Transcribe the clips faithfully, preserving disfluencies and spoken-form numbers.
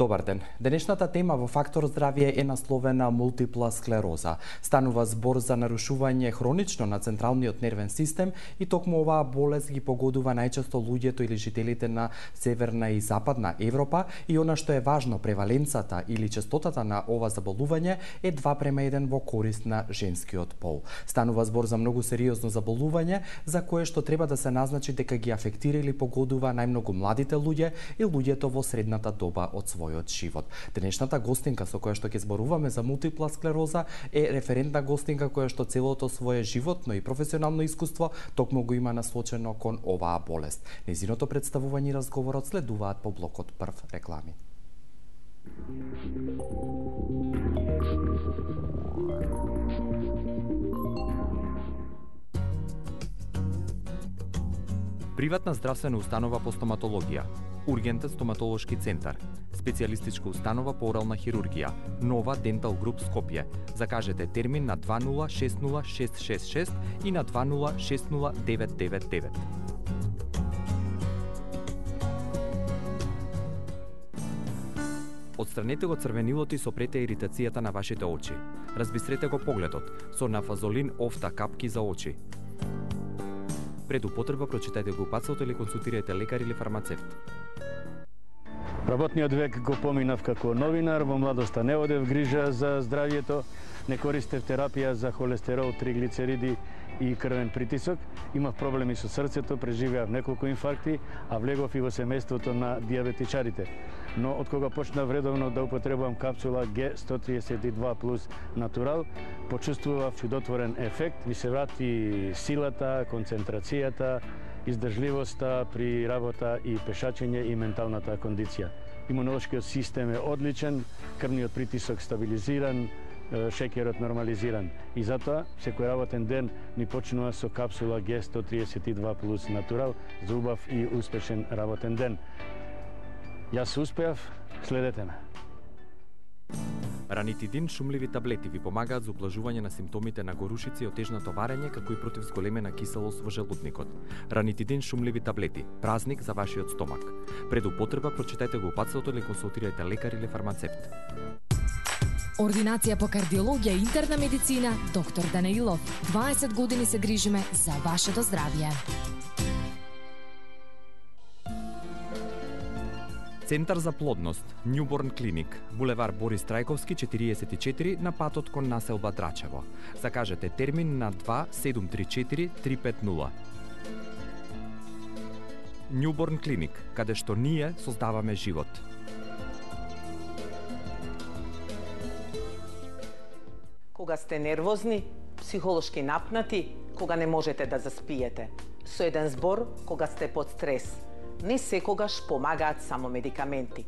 Добар ден. Денешната тема во Фактор здравје е насловена мултипла склероза. Станува збор за нарушување хронично на централниот нервен систем и токму оваа болест ги погодува најчесто луѓето или жителите на Северна и Западна Европа и она што е важно, преваленцата или честотата на ова заболување е два према еден во корист на женскиот пол. Станува збор за многу сериозно заболување за кое што треба да се назначи дека ги афектира или погодува најмногу младите луѓе и луѓето во средната доба од својот живот. Денешната гостинка со која што ќе зборуваме за мултипла склероза е референтна гостинка која што целото свое животно и професионално искуство токму го има насочено кон оваа болест. Нејзиното представување и разговорот следуваат по блокот прв реклами. Приватна здравствена установа по стоматологија, Ургентен стоматолошки центар, специјалистичка установа по орална хирургија, Нова Дентал Груп Скопје. Закажете термин на две нула шест нула шест шест шест и на две нула шест нула девет девет девет. Отстранете го црвенилото и сопрете иритацијата на вашите очи. Разбистрете го погледот со нафазолин офта капки за очи. Пред употреба прочитајте го упатството или консултирајте лекар или фармацевт. Работниот век го поминав како новинар, во младоста не одев грижа за здравјето, не користев терапија за холестерол, триглицериди и крвен притисок. Имав проблеми со срцето, преживеав неколку инфаркти, а влегов и во семејството на диабетичарите. Но од кога почнав редовно да употребувам капсула Г сто триесет и два плюс Натурал, почувствував чудотворен ефект, ми се врати силата, концентрацијата, издржливоста при работа и пешачење и менталната кондиција. Имунолошкиот систем е одличен, крвниот притисок стабилизиран, шеќерот нормализиран. И затоа, секој работен ден ни почнува со капсула Г сто триесет и два плюс Натурал за убав и успешен работен ден. Јас успеав, следете ме. Ранитидин шумливи таблети ви помагаат за ублажување на симптомите на горушици и отежно товарење, како и против зголемена киселост во желудникот. Ранитидин шумливи таблети, празник за вашиот стомак. Пред употреба прочитајте го упатството или консултирајте лекар или фармацевт. Ординација по кардиологија и интерна медицина, доктор Данаилов. дваесет години се грижиме за вашето здравје. Центар за плодност, Newborn Clinic, булевар Борис Трајковски четириесет и четири на патот кон населба Драчево. Закажете термин на два седум три четири три пет нула. Newborn Clinic, каде што ние создаваме живот. Кога сте нервозни, психолошки напнати, кога не можете да заспиете. Со еден збор, кога сте под стрес. Не секогаш помагаат само медикаменти.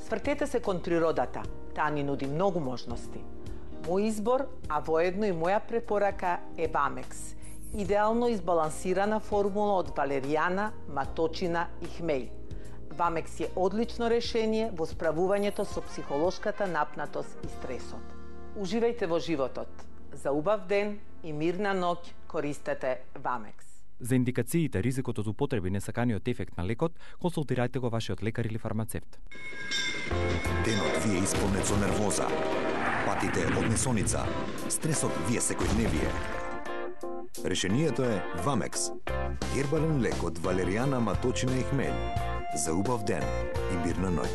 Свртете се кон природата, таа ни нуди многу можности. Мој избор, а воедно и моја препорака е Вамекс. Идеално избалансирана формула од валеријана, маточина и хмеј. Вамекс е одлично решение во справувањето со психолошката напнатост и стресот. Уживајте во животот. За убав ден и мирна ноќ користете Вамекс. За индикациите, ризикот од употреби и несаканиот ефект на лекот, консултирајте го вашиот лекар или фармацевт. Денот ви е исполнет со нервоза, патите од несоница, стресот ви е секојдневие. Решението е Вамекс. Хербален лек од валеријана, маточина и хмелј. За убав ден и мирна ноќ.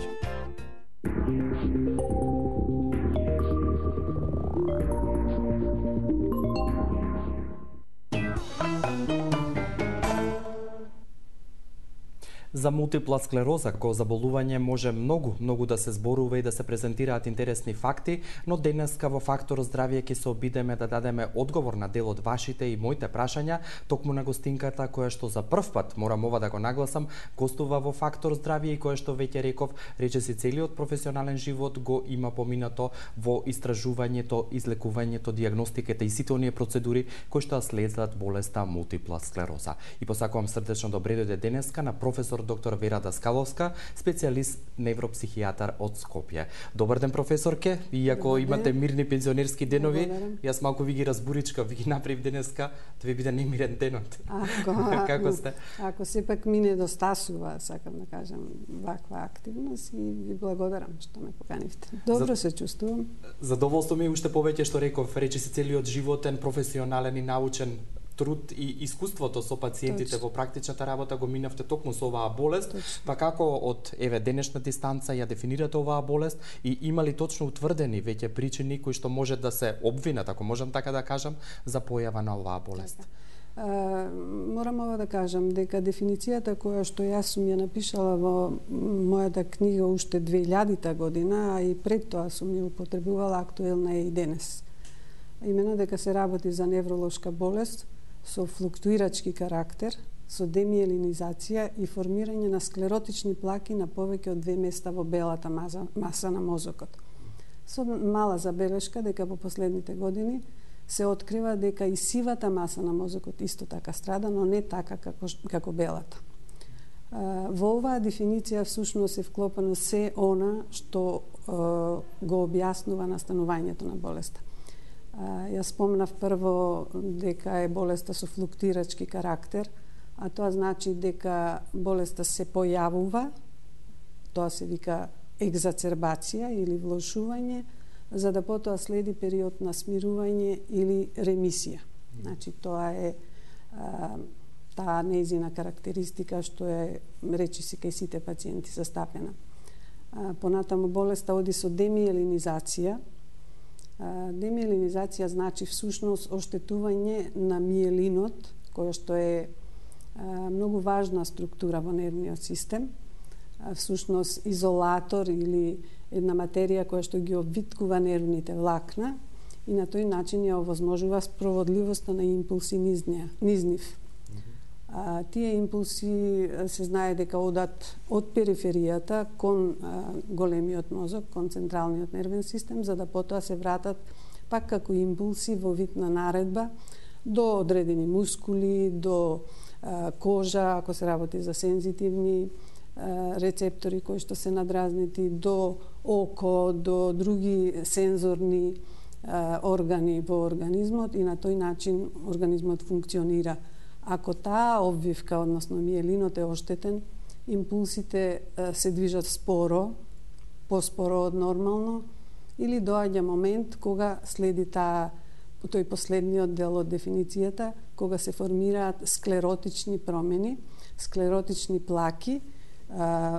За мултипла склероза, кој заболување може многу, многу да се зборува и да се презентираат интересни факти, но денеска во Фактор здравје ќе се обидеме да дадеме одговор на дел од вашите и моите прашања, токму на гостинката која што за прв пат, морам ова да го нагласам, гостува во Фактор здравје и која што веќе реков, речиси целиот професионален живот го има поминато во истражувањето, излекувањето, дијагностиката и сите оние процедури кои што следат болеста мултипла склероза. И посакувам срдечно добре дојде денеска на професор доктор Вера Даскаловска, специјалист невропсихијатар од Скопје. Добар ден, професорке. Иако имате мирни пензионерски денови, јас малку ви ги разбуричка, ви ги направив денеска, да ви биде немирен денот. Ако, Како сте? Ако сепак ми недостасува, сакам да кажам, ваква активност и ви благодарам што ме поканивте. Добро за, се чувствувам. Задоволство ми уште повеќе што реков, речи се целиот животен, професионален и научен труд и искуството со пациентите Точно. Во практичната работа го минавте токму со оваа болест, Точно. Па како од еве денешна дистанца ја дефинирате оваа болест и има ли точно утврдени веќе причини кои што може да се обвинат, ако можам така да кажам, за појава на оваа болест? Така. Uh, морам ова да кажам дека дефиницијата која што јас сум ја напишала во мојата книга уште две илјадита година, а и пред тоа сум ја употребувала, актуелна е и денес. Имено дека се работи за невролошка болест со флуктуирачки карактер, со демиелинизација и формирање на склеротични плаки на повеќе од две места во белата маса, маса на мозокот. Со мала забелешка дека во последните години се открива дека и сивата маса на мозокот исто така страда, но не така како, како белата. Во оваа дефиниција всушност е вклопено се она што го објаснува настанувањето на болеста. Јас спомнав прво дека е болеста со флуктуирачки карактер, а тоа значи дека болеста се појавува, тоа се вика екзацербација или влошување, за да потоа следи период на смирување или ремисија. Значи, тоа е а, таа нејзина карактеристика што е, речи се, кај сите пациенти застапена. А, понатаму болеста оди со демиелинизација. А, демиелинизација значи всушност оштетување на миелинот, која што е а, многу важна структура во нервниот систем, а, всушност изолатор или една материја која што ги обвиткува нервните влакна и на тој начин ја овозможува спроводливоста на импулси низ, низ нив. А, тие импулси се знае дека одат од периферијата кон а, големиот мозок, кон централниот нервен систем, за да потоа се вратат пак како импулси во вид на наредба до одредени мускули, до а, кожа, ако се работи за сензитивни рецептори кои што се надразнити, до око, до други сензорни а, органи во организмот и на тој начин организмот функционира. Ако таа обвивка, односно миелинот е оштетен, импулсите а, се движат споро, поспоро од нормално, или доаѓа момент кога следи таа тој последниот дел од дефиницијата, кога се формираат склеротични промени, склеротични плаки,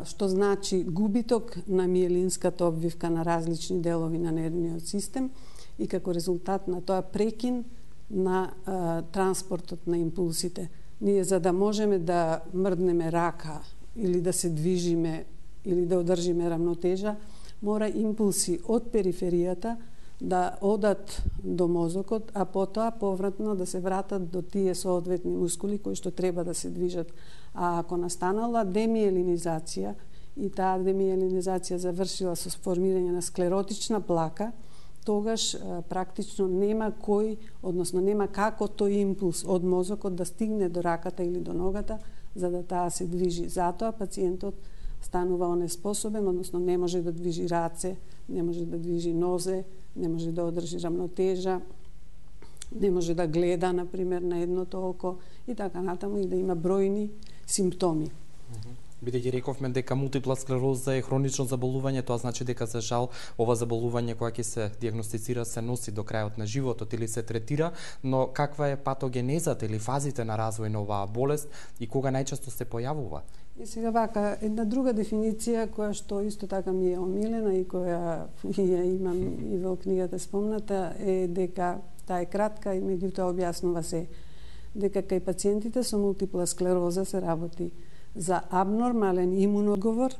што значи губиток на миелинската обвивка на различни делови на нервниот систем и како резултат на тоа прекин на а, транспортот на импулсите. Ние за да можеме да мрднеме рака или да се движиме или да одржиме рамнотежа, мора импулси од периферијата да одат до мозокот, а потоа повратно да се вратат до тие соодветни мускули кои што треба да се движат. А ако настанала демиелинизација и таа демиелинизација завршила со формирање на склеротична плака, тогаш а, практично нема кој, односно нема како тој импулс од мозокот да стигне до раката или до ногата, за да таа се движи. Затоа пациентот станува онеспособен, односно не може да движи раце, не може да движи нозе, не може да одржи рамнотежа, не може да гледа, например, на едното око и така натаму, и да има бројни симптоми. Бидејќи рековме дека мултипла склероза е хронично заболување, тоа значи дека за жал ова заболување кога ќе се дијагностицира се носи до крајот на животот или се третира, но каква е патогенезата или фазите на развој на оваа болест и кога најчесто се појавува? И сега вака, една друга дефиниција која што исто така ми е омилена и која ја имам и во книгата спомната е дека таа е кратка и меѓутоа објаснува се дека кај пациентите со мултипла склероза се работи за абнормален имун одговор,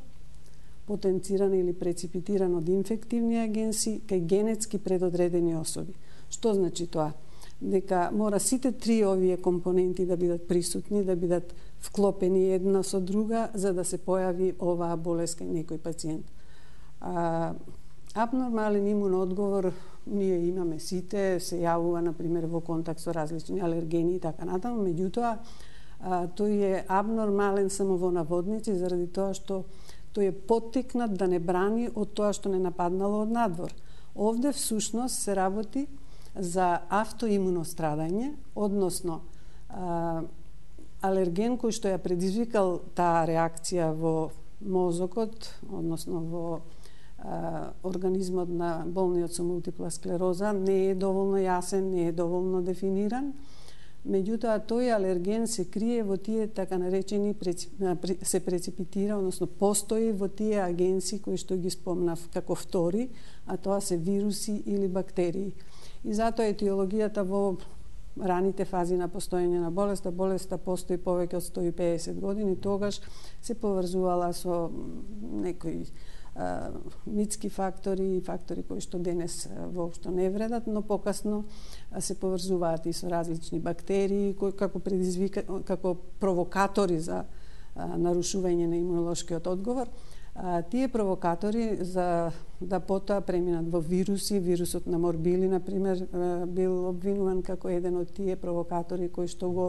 потенциран или преципитиран од инфективни агенси кај генетски предодредени особи. Што значи тоа? Дека мора сите три овие компоненти да бидат присутни, да бидат вклопени една со друга, за да се појави оваа болест кај некој пациент. А, абнормален имун одговор ние имаме сите, се јавува, например, во контакт со различни алергени и така натаму, меѓутоа, а, тој е абнормален само во наводници заради тоа што тој е поттикнат да не брани од тоа што не нападнало од надвор. Овде всушност се работи за автоимуно страдање, односно а, алерген кој што ја предизвикал таа реакција во мозокот, односно во а, организмот на болниот со мултипла склероза, не е доволно јасен, не е доволно дефиниран. Меѓутоа, тој алерген се крие во тие така наречени, се преципитира, односно постои во тие агенси кои што ги спомнав како втори, а тоа се вируси или бактерии. И затоа етиологијата во раните фази на постоење на болеста, болеста постои повеќе од сто и педесет години, тогаш се поврзувала со некои а, митски фактори и фактори кои што денес воопшто не вредат, но покасно се поврзуваат и со различни бактерии кои како предизвика како провокатори за а, нарушување на имунолошкиот одговор. А, тие провокатори за да потоа преминат во вируси, вирусот на морбили, например, бил обвинуван како еден од тие провокатори кои што го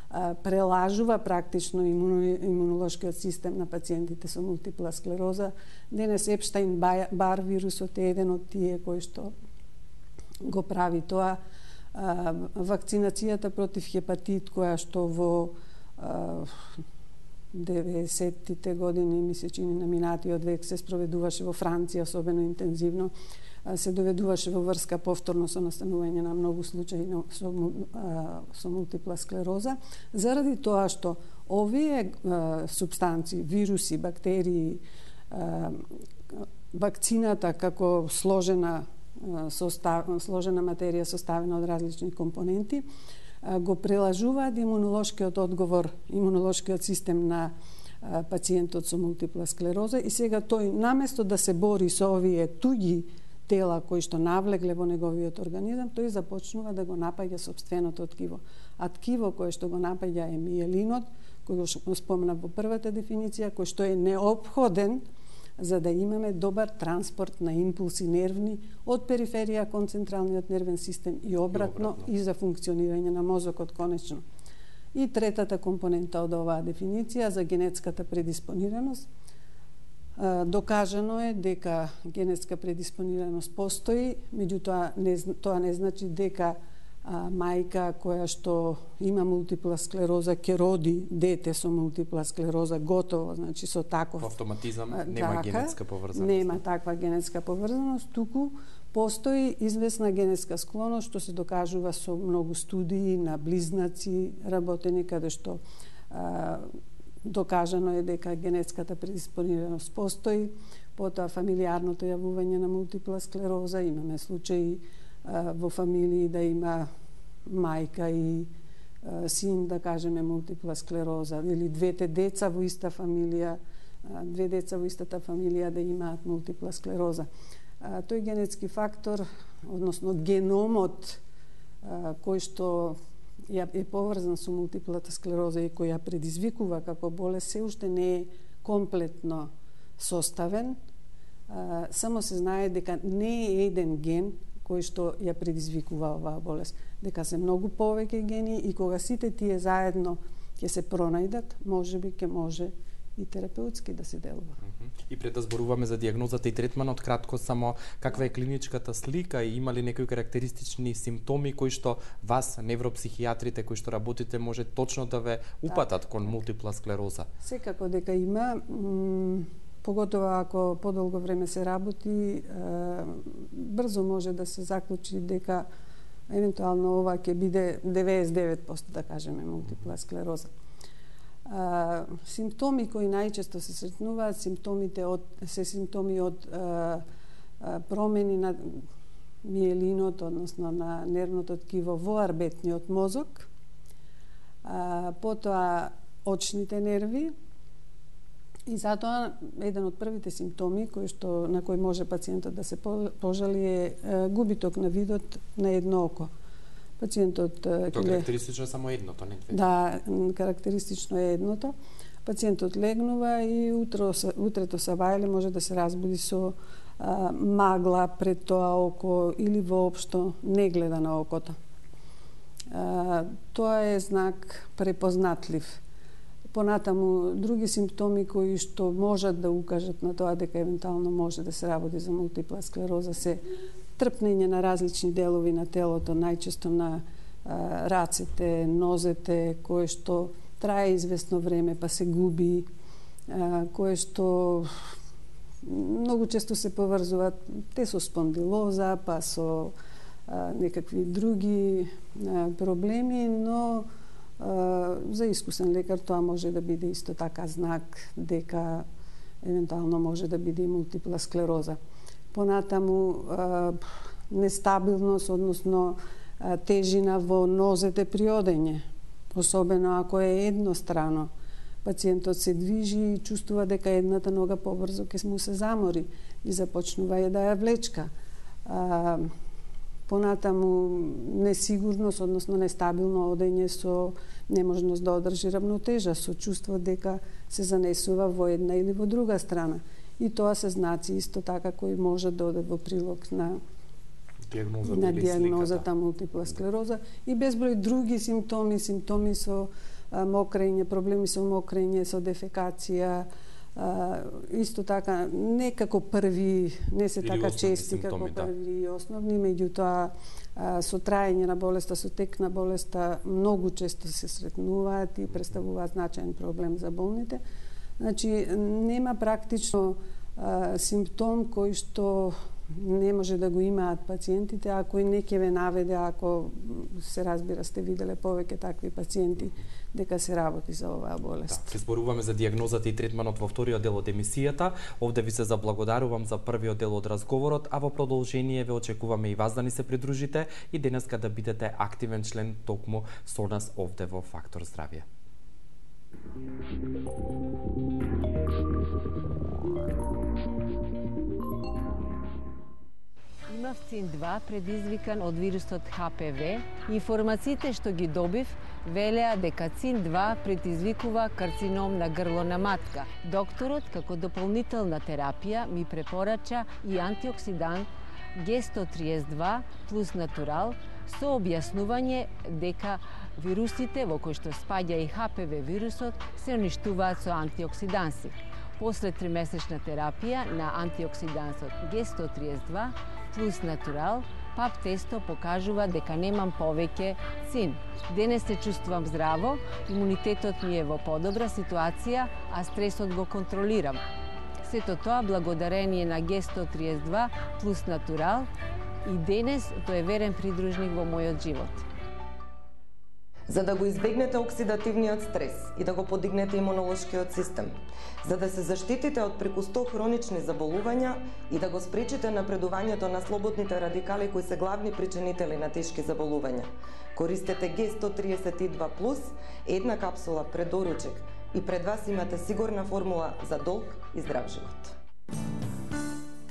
а, прелажува практично имуно, имунолошкиот систем на пациентите со мултипла склероза. Денес Епштайн-Бар вирусот е еден од тие кои што го прави тоа. А, вакцинацијата против хепатит, која што во а, деветдесеттите години, ми се чини на минатиот век, се спроведуваше во Франција, особено интензивно, се доведуваше во врска повторно со настанување на многу случаи со, со мултипла склероза, заради тоа што овие а, субстанции, вируси, бактерии, а, вакцината како сложена состав, сложена материја составена од различни компоненти, го прелажуваат имунолошкиот одговор, имунолошкиот систем на пациентот со мултипла склероза и сега тој наместо да се бори со овие туѓи тела кои што навлегле во неговиот организам, тој започнува да го напаѓа сопственото ткиво. А ткиво кое што го напаѓа е миелинот, кој го спомнав во првата дефиниција, кој што е неопходен за да имаме добар транспорт на импулси нервни од периферија кон централниот нервен систем и обратно, и обратно и за функционирање на мозокот конечно. И третата компонента од оваа дефиниција за генетската предиспонираност. Докажано е дека генетска предиспонираност постои, меѓутоа не, тоа не значи дека а, мајка која што има мултипла склероза ќе роди дете со мултипла склероза готово, значи со таков автоматизам а, нема така, генетска поврзаност. Нема таква генетска поврзаност, туку постои известна генетска склоност што се докажува со многу студии на близнаци работени каде што а, докажано е дека генетската предиспонираност постои, потоа фамилиарното јавување на мултипла склероза, имаме случаи а, во фамилии да има мајка и а, син, да кажеме, мултипла склероза, или двете деца во иста фамилија, а, две деца во истата фамилија да имаат мултипла склероза. А, тој генетски фактор, односно геномот а, кој што е поврзан со мултиплата склероза и која предизвикува како болест, се уште не е комплетно составен. А, само се знае дека не е еден ген кој што ја предизвикува оваа болест, дека се многу повеќе гени и кога сите тие заедно ќе се пронајдат, можеби ќе може и терапеутски да се делува. И пред да зборуваме за дијагнозата и третманот, кратко само каква е клиничката слика и има ли некои карактеристични симптоми кои што вас, невропсихијатрите кои што работите, може точно да ве упатат кон мултипла склероза? Секако дека има, поготово ако подолго време се работи, брзо може да се заклучи дека евентуално ова ќе биде деветдесет и девет проценти, да кажеме, мултипла склероза. А, симптоми кои најчесто се сретнуваат, симптомите од се симптоми од а, а, промени на миелинот, односно на нервното ткиво во арбетниот мозок, а, потоа очните нерви и затоа еден од првите симптоми кои што на кој може пациентот да се пожали е губиток на видот на едно око. Пациентот Тоа карактеристично е само едното, не две. Да, карактеристично е едното. Пациентот легнува и утро, утрето са вајле може да се разбуди со а, магла пред тоа око или воопшто не гледа на окото. Тоа е знак препознатлив. Понатаму, други симптоми кои што можат да укажат на тоа дека евентуално може да се работи за мултипла склероза се трпнење на различни делови на телото, најчесто на а, рацете, нозете, кое што трае известно време па се губи, а, кое што многу често се поврзуваат те со спондилоза, па со а, некакви други а, проблеми, но а, за искусен лекар тоа може да биде исто така знак дека евентуално може да биде и мултипла склероза. Понатаму а, нестабилност, односно а, тежина во нозете при одење, особено ако е еднострано. Пациентот се движи и чувствува дека едната нога побрзо ќе му се замори и започнува да ја влечка. А, понатаму несигурност, односно нестабилно одење со неможност да одржи равнотежа, со чувство дека се занесува во една или во друга страна. И тоа се знаци исто така кои може да одат во прилог на диагнозата, на диагнозата мултипла склероза и безброј други симптоми, симптоми со а, мокрење, проблеми со мокрење, со дефекација, а, исто така не како први, не се или така чести симптоми, како да. први и основни, меѓутоа со траење на болеста, со тек на болеста многу често се сретнуваат и представуваат значаен проблем за болните. Значи, нема практично а, симптом кој што не може да го имаат пациентите, ако и не ќе ве наведе, ако се разбира сте виделе повеќе такви пациенти, дека се работи за оваа болест. Да, се зборуваме за диагнозата и третманот во вториот дел од емисијата. Овде ви се заблагодарувам за првиот дел од разговорот, а во продолжение ве очекуваме и вас да ни се придружите и денеска да бидете активен член токму со нас овде во Фактор здравје. Имав цин два предизвикан од вирусот Х П В. Информациите што ги добив велеа дека цин два предизвикува карцином на грло на матка. Докторот, како дополнителна терапија, ми препорача и антиоксидант Г сто триесет два плюс натурал со објаснување дека вирусите во кои што спаѓа и Х П В вирусот се уништуваат со антиоксиданси. После тримесечна терапија на антиоксидансот Г сто триесет два плюс натурал, пап тесто покажува дека немам повеќе цин. Денес се чувствувам здраво, имунитетот ми е во подобра ситуација, а стресот го контролирам. Сето тоа благодарение на Г сто триесет два плюс натурал и денес тој е верен придружник во мојот живот. За да го избегнете оксидативниот стрес и да го подигнете имунолошкиот систем, за да се заштитите од преку сто хронични заболувања и да го спречите напредувањето на слободните радикали кои се главни причинители на тешки заболувања, користете Г сто триесет два плюс, една капсула пред доручек и пред вас имате сигурна формула за долг и здрав живот.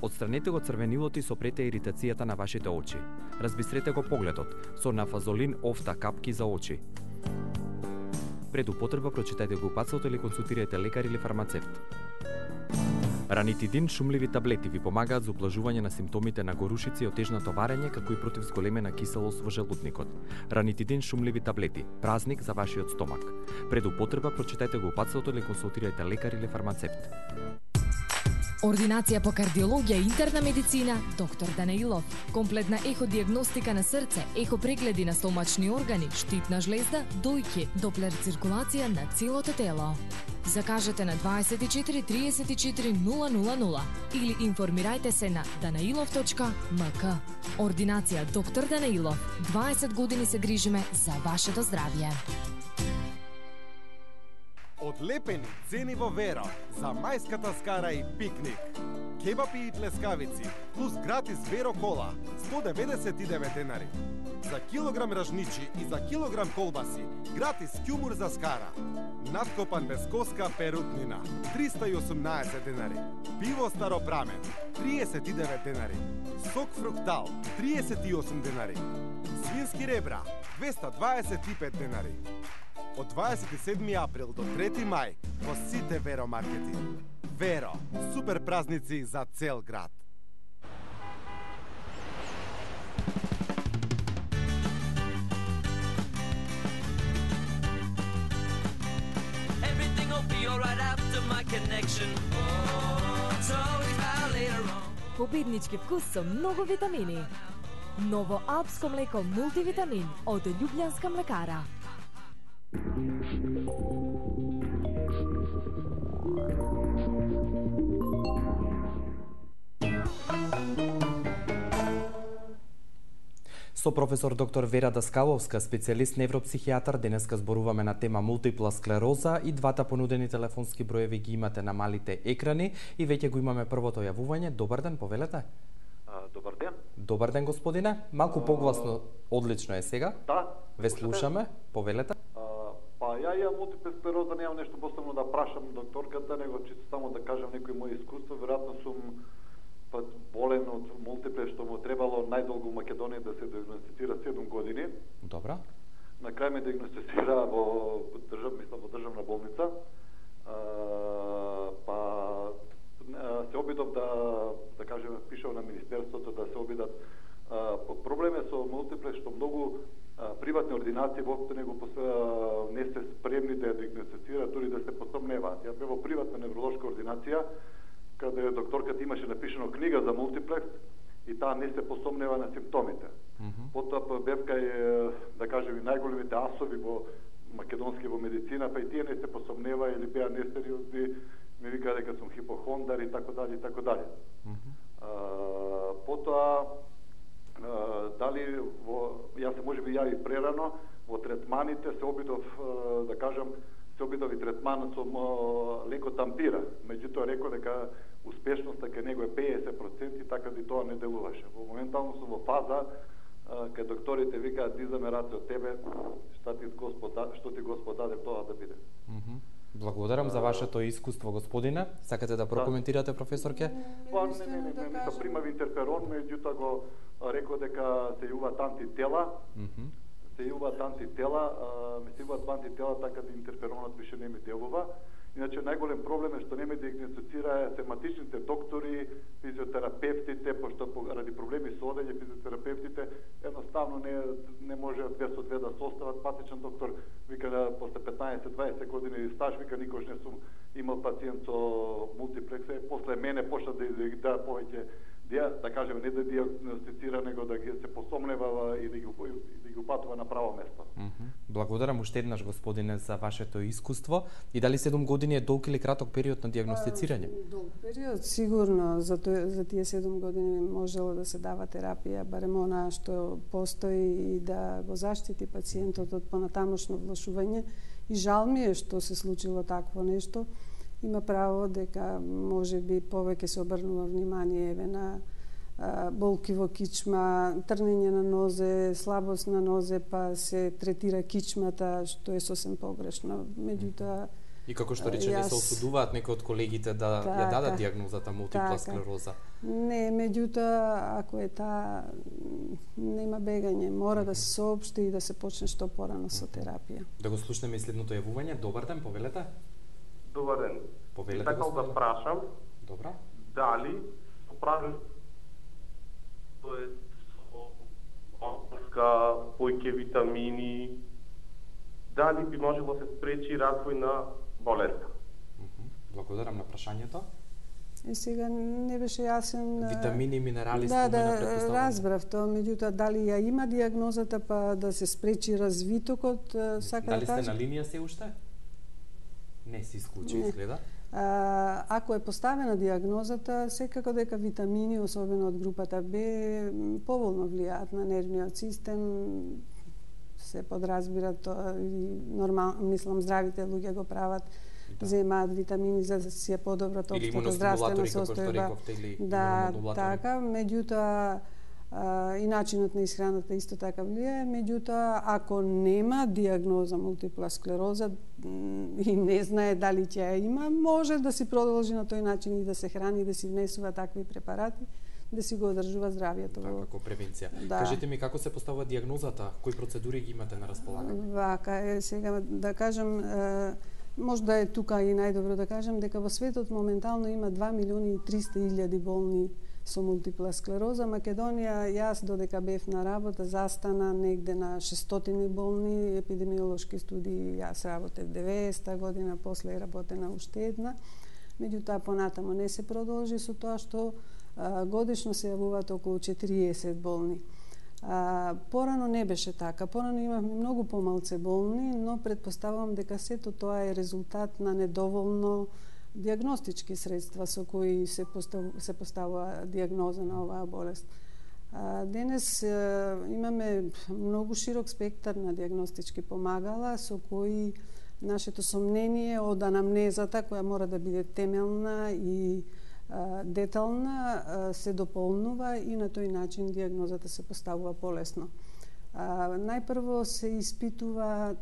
Отстранете го црвенилот и сопрете иритацијата на вашите очи. Разбистрете го погледот со нафазолин офта капки за очи. Пред употреба прочитајте го упатството или консултирајте лекар или фармацевт. Ранитидин шумливи таблети ви помагаат за ублажување на симптомите на горушици и отежнато варење, како и против зголемена киселост во желудникот. Ранитидин шумливи таблети, празник за вашиот стомак. Пред употреба прочитајте го упатството или консултирајте лекар или фармацевт. Ординација по кардиологија и интерна медицина, доктор Данаилов. Комплетна еходиагностика на срце, ехопрегледи на стомачни органи, штитна жлезда, дојки, доплер циркулација на целото тело. Закажете на дваесет и четири триесет и четири нула нула нула или информирајте се на данаилов точка м к. Ординација доктор Данаилов. дваесет години се грижиме за вашето здравје. Одлепени цени во Веро за мајската скара и пикник. Кебапи и тлескавици плюс гратис Веро кола сто деветдесет и девет денари. За килограм ражничи и за килограм колбаси гратис кјумур за скара. Надкопан без коска перутнина триста и осумнаесет денари. Пиво Старопрамен триесет и девет денари. Сок фруктал триесет и осум денари. Свински ребра двеста дваесет и пет денари. Од дваесет и седми април до трети мај во сите Веро маркети. Веро, супер празници за цел град. you're right after my connection. Oh, it's always about later on. Победнички вкус со многу витамини. Ново алпско млеко мултивитамин од Љубљанска млекара. Со професор доктор Вера Даскаловска, специјалист невропсихијатар, денеска зборуваме на тема мултипла склероза и двата понудени телефонски броеви ги имате на малите екрани и веќе го имаме првото јавување. Добар ден, повелете. Добар ден. Добар ден, господине. Малку погласно, одлично е сега. Да. Ве слушаме, повелете. А, па ја ја мултипла склероза немам нешто посебно да прашам докторката, него чисто само да кажам некои мои искуства. Веројатно сум па болен од мултипле, што му требало најдолго во Македонија да се диагностицира седум години. Добра. На крај ме диагностицира во држав, мислам во државна болница. А, па се обидов да да кажем пишав на министерството да се обидат. А, проблем е со мултипле што многу а, приватни ординации воопшто не го не се спремни да ја диагностицираат, дури да се посомневаат. Ја бев во приватна невролошка ординација каде докторката имаше напишано книга за мултиплекс и таа не се посомнева на симптомите. Mm -hmm. Потоа бев кај, да кажем, и најголемите асови во македонски во медицина, па и тие не се посомнева или беа несериозни, ми вика дека сум хипохондар и така дали и така дали. Mm -hmm. а, потоа а, дали во јас се можеби ја и прерано во третманите се обидов да кажам се обидов и третман со лекот ампира. Меѓутоа рекол дека успешноста кај него е педесет проценти, така да и тоа не делуваше. Во моментално сум во фаза кај докторите викаат дизаме раце од тебе, што ти Господ што ти Господ даде тоа да биде. Mm -hmm. Благодарам за вашето искуство, господине. Сакате да прокоментирате, професорке? Па не, не, не, не, не, примав интерферон, меѓутоа го рекол дека се јуваат антитела. Mm -hmm. се јуваат антитела, ме се јуваат антитела, така да интерферонот више не ми делува. Иначе најголем проблем е што не ме диагностицира сематичните доктори, физиотерапевтите, пошто ради проблеми со одење физиотерапевтите едноставно не не може две со две да состават. Патичен доктор вика после петнаесет дваесет години стаж вика никош не сум имал пациент со мултиплекс. После мене почна да да повеќе да кажеме не да диагностицира, него да ги се посомнева и да ги да ги упатува на право место. Mm -hmm. Благодарам уште еднаш, господине, за вашето искуство. И дали седум години е долг или краток период на диагностицирање? Долг период, сигурно. За, тој, за тие седум години можело да се дава терапија, барем она што постои и да го заштити пациентот од понатамошно влошување. И жал ми е што се случило такво нешто. Има право дека може би повеќе се обрнува внимание еве на а, болки во кичма, трнење на нозе, слабост на нозе, па се третира кичмата, што е сосем погрешно. Меѓутоа и како што рече, јас... не се осудуваат некои од колегите да така, ја дадат дијагнозата мултипла така. склероза. Не, меѓутоа ако е таа нема бегање, мора да се соопшти и да се почне што порано со терапија. Да го слушнеме и следното јавување. Добар ден, повелете. Добар ден. Повелете, сакал да прашам. Добра. Дали прави тоа е опска, појќе витамини, дали би можело се спречи развој на болеста? Благодарам на прашањето. И сега не беше јасен. Витамини и минерали да, спомена, да, разбрав тоа, меѓутоа дали ја има дијагнозата па да се спречи развитокот, сака дали да кажа. Дали сте на линија се уште? Не се исклучи, изгледа. А, ако е поставена дијагнозата, секако дека витамини, особено од групата Б, поволно влијаат на нервниот систем, се подразбира тоа и нормално, мислам, здравите луѓе го прават, да. Земаат витамини за да си е подобро општата здравствена состојба. Да, така, меѓутоа и начинот на исхраната исто така влијае, меѓутоа ако нема дијагноза мултипла склероза и не знае дали ќе ја има, може да си продолжи на тој начин и да се храни, да си внесува такви препарати, да си го одржува здравието. Така, како превенција. Да. Кажете ми како се поставува дијагнозата, кои процедури ги имате на располагање? Вака е, сега да кажам, може да е тука и најдобро да кажам дека во светот моментално има два милиони и триста илјади болни со мултипла склероза. Македонија, јас додека бев на работа, застана негде на шестстотини болни, епидемиолошки студии, јас работев деветдесета година, после работена уште една. Меѓутоа, понатамо не се продолжи со тоа што а, годишно се јавуваат околу четириесет болни. А, порано не беше така. Порано имавме многу помалце болни, но предпоставувам дека сето тоа е резултат на недоволно диагностички средства со кои се, постав, се поставува диагноза на оваа болест. А, денес а, имаме многу широк спектар на диагностички помагала со кои нашето сомнение од анамнезата, која мора да биде темелна и а, детална, а, се дополнува и на тој начин диагнозата се поставува полесно. А, најпрво се испитува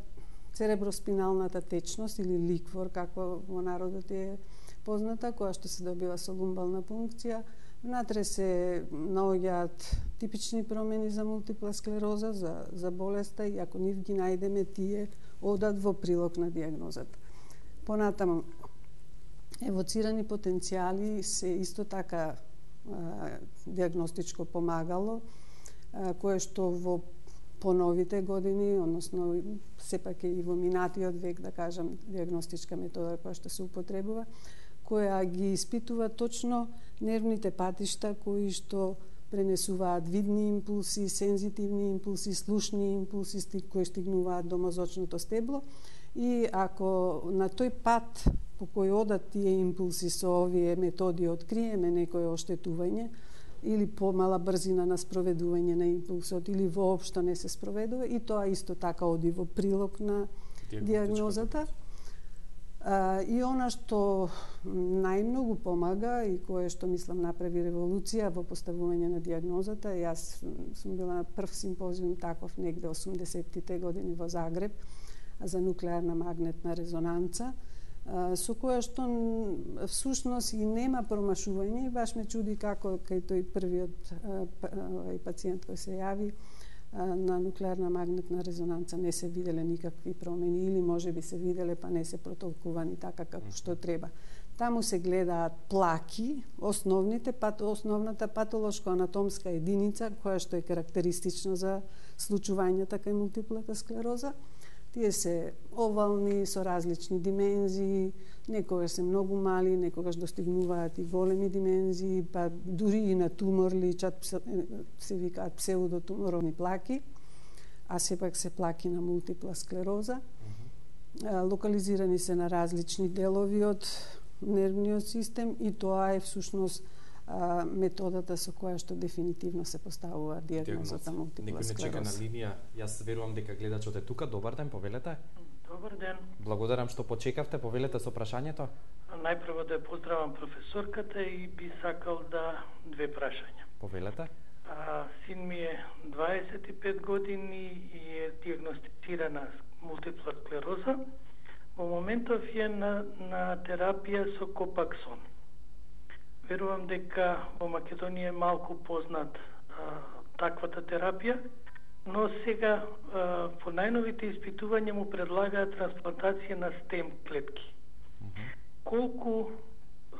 цереброспиналната течност или ликвор, како во народот е позната, која што се добива со лумбална пункција. Внатре се наоѓаат типични промени за мултипла склероза, за, за болеста, и ако нив ги најдеме, тие одат во прилог на диагнозата. Понатаму, евоцирани потенцијали се исто така а, диагностичко помагало, а, кое што во поновите години, односно сепак е и во минатиот век, да кажам, диагностичка метода која што се употребува, која ги испитува точно нервните патишта кои што пренесуваат видни импулси, сензитивни импулси, слушни импулси кои стигнуваат до мозочното стебло, и ако на тој пат по кој одат тие импулси со овие методи откриеме некое оштетување или помала брзина на спроведување на импулсот или воопшто не се спроведува, и тоа исто така оди во прилог на диагнозата. А, и она што најмногу помага и кое што мислам направи револуција во поставување на диагнозата, јас сум била на прв симпозиум таков негде осумдесеттите години во Загреб за нуклеарна магнетна резонанца, а, со која што всушност и нема промашување, и баш ме чуди како кај тој првиот а, пациент кој се јави на нуклеарна магнетна резонанца не се виделе никакви промени, или може би се виделе па не се протолкувани така како што треба. Таму се гледаат плаки, основните пат, основната патолошко-анатомска единица која што е карактеристична за случувањата кај мултиплата склероза. Тие се овални со различни димензии, некогаш се многу мали, некогаш достигнуваат и големи димензии, па дури и на тумор личат, се викаат псевдотуморовни плаки, а сепак се плаки на мултипла склероза. Локализирани се на различни делови од нервниот систем, и тоа е всушност а, методата со која што дефинитивно се поставува диагнозата мултипла склероза. Некој не чека на линија. Јас верувам дека гледачот е тука. Добар ден, повелете. Добар ден. Благодарам што почекавте, повелете со прашањето. Најпрво да поздравам професорката и би сакал да две прашања. Повелете. А, син ми е дваесет и пет години и е диагностицирана мултипла склероза. Во моментов е на, на терапија со копаксон. Верувам дека во Македонија е малку познат а, таквата терапија, но сега а, по најновите испитувања му предлагаат трансплантација на стем клетки. Mm-hmm. Колку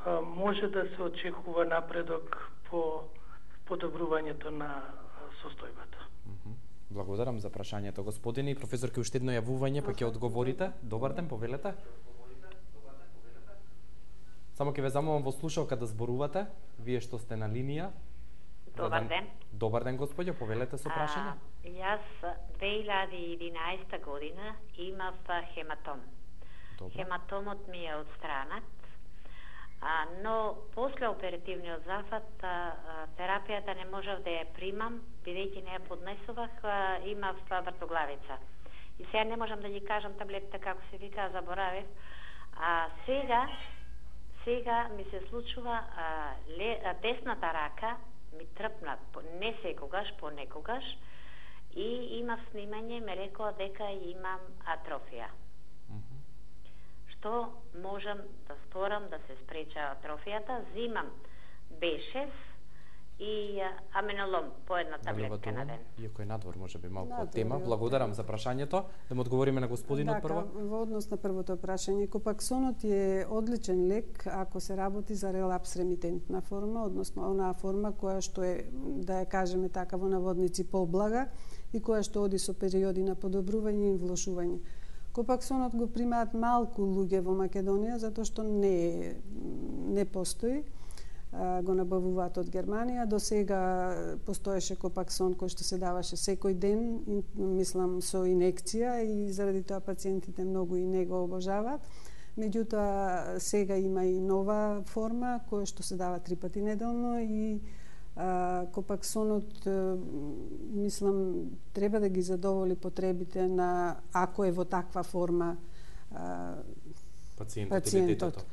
а, може да се очекува напредок по подобрувањето на состојбата? Mm-hmm. Благодарам за прашањето, господине. Професорке, уште едно јавување, па ќе одговорите. Добар ден, повелете. Само ќе ве замолам во слушалка да зборувате, вие што сте на линија. Добар ден. Добар ден, господјо, повелете со прашање. А, јас две илјади и единаесета година имав хематом. Добре. Хематомот ми е отстранат, а, но после оперативниот зафат а, а, терапијата не можев да ја примам, бидејќи не ја поднесувах, а, имав вртоглавица. И сега не можам да ги кажам таблетите како се вика, заборавив. А сега Сега ми се случува а, ле, а, десната рака ми трпна, не секогаш, понекогаш, и имав снимање, ме рекоа дека имам атрофија. Mm-hmm. Што можам да сторам да се спреча атрофијата? Зимам Б шест и аменолом по една таблетка на ден. Иако е надвор, може би малку од тема. Надвор, Благодарам за прашањето. Да му одговориме на господинот прво. Дака, во однос на првото прашање, копаксонот е одличен лек ако се работи за релапс ремитентна форма, односно онаа форма која што е, да ја кажеме така во наводници, поблага и која што оди со периоди на подобрување и влошување. Копаксонот го примаат малку луѓе во Македонија затоа што не не постои. Го набавуваат од Германија. До сега постоеше копаксон кој што се даваше секој ден, мислам со инекција, и заради тоа пациентите многу и не го обожаваат. Меѓутоа сега има и нова форма која што се дава три пати неделно и а, копаксонот а, мислам треба да ги задоволи потребите на, ако е во таква форма, а, пациентот, пациентот.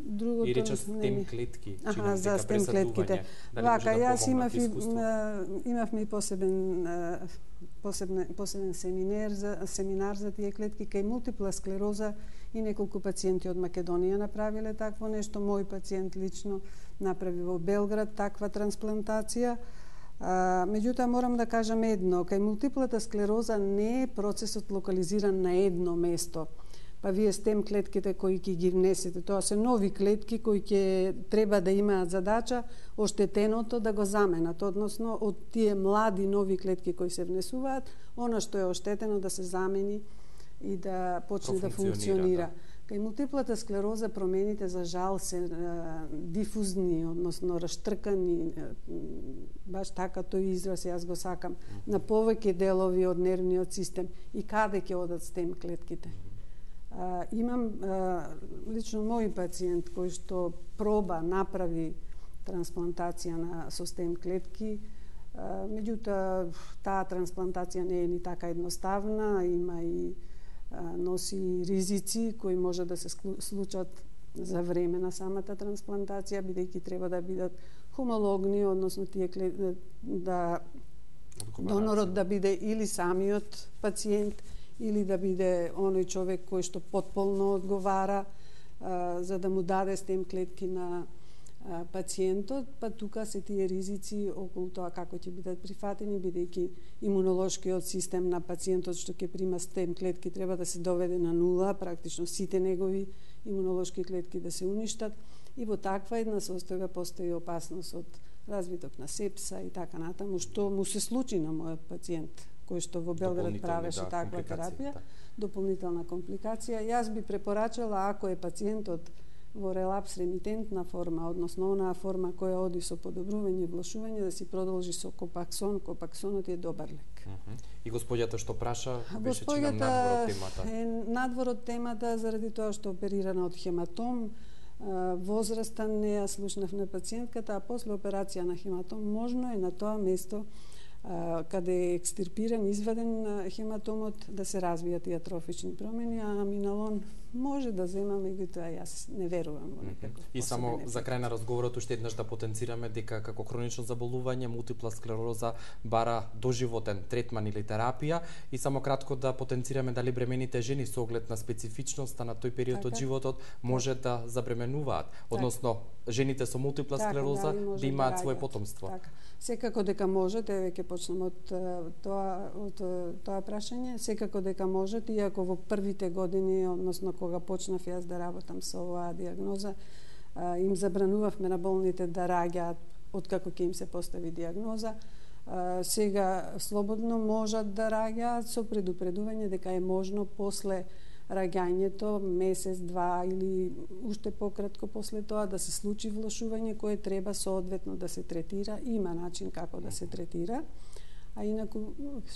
Другото, и рече стем клетки, аха, за стем клетките. Вака, јас имав и, имавме и посебен посебен посебен семинар за семинар за тие клетки кај мултипла склероза и неколку пациенти од Македонија направиле такво нешто. Мој пациент лично направи во Белград таква трансплантација. А, меѓутоа морам да кажам едно, кај мултиплата склероза не е процесот локализиран на едно место. Па вие стем клетките кои ќе ги внесете, тоа се нови клетки кои ќе треба да имаат задача оштетеното да го заменат, односно од тие млади нови клетки кои се внесуваат, она што е оштетено да се замени и да почне да функционира. Да. Кај мултиплата склероза промените за жал се е, дифузни, односно раштркани, е, баш така тој израз јас го сакам, на повеќе делови од нервниот систем. И каде ќе одат стем клетките? Uh, имам uh, лично мој пациент кој што проба, направи трансплантација на со стем клетки, uh, меѓутоа таа трансплантација не е ни така едноставна, има и uh, носи ризици кои може да се случат за време на самата трансплантација, бидејќи треба да бидат хомологни, односно тие клетки да донорот да биде или самиот пациент или да биде оној човек кој што потполно одговара а, за да му даде стем клетки на а, пациентот, па тука се тие ризици околу тоа како ќе бидат прифатени, бидејќи имунолошкиот систем на пациентот што ќе прима стем клетки треба да се доведе на нула, практично сите негови имунолошки клетки да се уништат, и во таква една состојба постои опасност од развиток на сепса и така натаму, што му се случи на мојот пациент кој што во Белград правеше да, таква терапија, да. Дополнителна компликација. Јас би препорачала, ако е пациентот во релапс ремитентна форма, односно онаа форма која оди со подобрување и влошување, да си продолжи со копаксон. Копаксонот е добар лек. Uh -huh. И господјата што праша, беше чигам надвор од темата. Е надвор од темата заради тоа што оперирана од хематом, возраста не ја слушнав на пациентката, а после операција на хематом можно е на тоа место каде е екстирпиран, изваден хематомот, да се развијат и атрофични промени, а аминалон може да зема, меѓутоа јас не верувам во некаков. И само за крај на разговорот уште еднаш да потенцираме дека како хронично заболување мултипла склероза бара доживотен третман или терапија, и само кратко да потенцираме дали бремените жени со оглед на специфичноста на тој период така, од животот може так, да забременуваат, односно так, жените со мултипла така, склероза да, да имаат да своје потомство. Така. Секако дека можете, веќе почнем од тоа од тоа прашање, секако дека можете, иако во првите години, односно кога почнав јас да работам со оваа диагноза, им забранувавме на болните да раѓаат откако ќе им се постави диагноза. Сега слободно можат да раѓаат со предупредување дека е можно после раѓањето, месец, два или уште пократко после тоа да се случи влошување кое треба соодветно да се третира. Има начин како да се третира. А инаку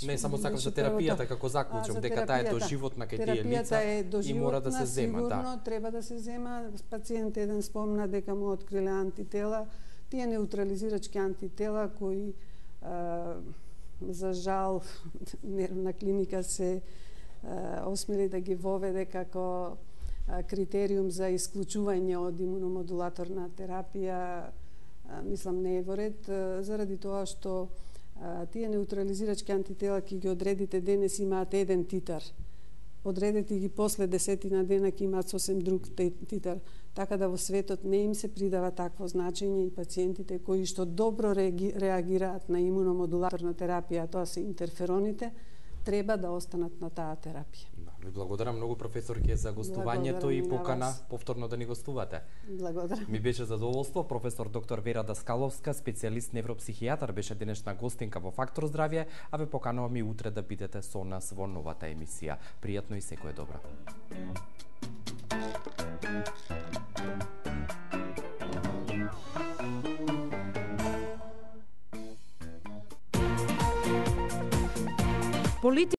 не само сакам за терапијата како заклучок, дека таа е доживотна кај тие лица и мора да се зема, сигурно, да. Треба да се зема. Пациент еден спомна дека му откриле антитела, тие неутрализирачки антитела кои а, за жал нервна клиника се а, осмели да ги воведе како а, критериум за исклучување од имуномодулаторна терапија, а, мислам не е во ред, а, заради тоа што а, тие неутрализирачки антитела ки ги одредите денес имаат еден титар одредете ги после десетина дена ќе имаат сосем друг титар. Така да во светот не им се придава такво значење и пациентите кои што добро реагираат на имуномодулаторна терапија, тоа се интерфероните, треба да останат на таа терапија. Ви благодарам многу, професорке, за гостувањето и покана повторно да ни гостувате. Благодарам. Ми беше задоволство. Професор доктор Вера Даскаловска, специјалист невропсихијатар, беше денешна гостинка во Фактор здравје, а ве поканувам и утре да бидете со нас во новата емисија. Пријатно и секое добро.